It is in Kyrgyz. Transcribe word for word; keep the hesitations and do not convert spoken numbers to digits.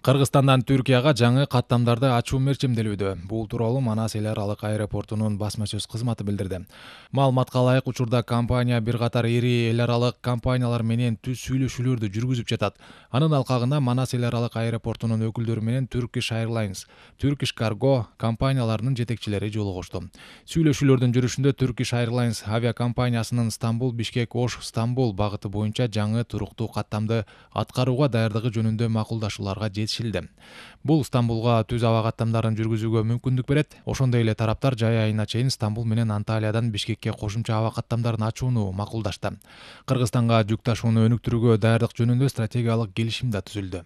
Кыргызстандан Түркияга жаңы каттамдарды ачуу мерчимделүүдө. Бул тууралуу Манас эл аралык аэропортунун басма сөз кызматы билдирди. Маалыматка ылайык, учурда компания бир катар ири эл аралык компаниялар менен түз сүйлөшүүлөрдү жүргүзүп жатат. Анын алкагында Манас эл аралык аэропортунун өкүлдөрү менен Turkish Airlines, Turkish Cargo компанияларынын жетекчилери жолугушту. Сүйлөшүүлөрдүн жүрүшүндө Turkish Airlines авиакомпаниясынын Стамбул, Бишкек, Ош, Стамбул багыты боюнча жаңы туруктуу каттамды аткарууга даярдыгы жөнүндө макулдашууларга жетишилди. Бул Стамбулга түз аба каттамдарын жүргүзүүгө мүмкүндүк берет. Ошондой эле тараптар жай айына чейин Стамбул менен Анталиядан Бишкекке кошумча аба каттамдарын ачууну макулдашты. Кыргызстанга жүк ташууну өнүктүрүүгө даярдык жөнүндө стратегиялык келишим да түзүлдү.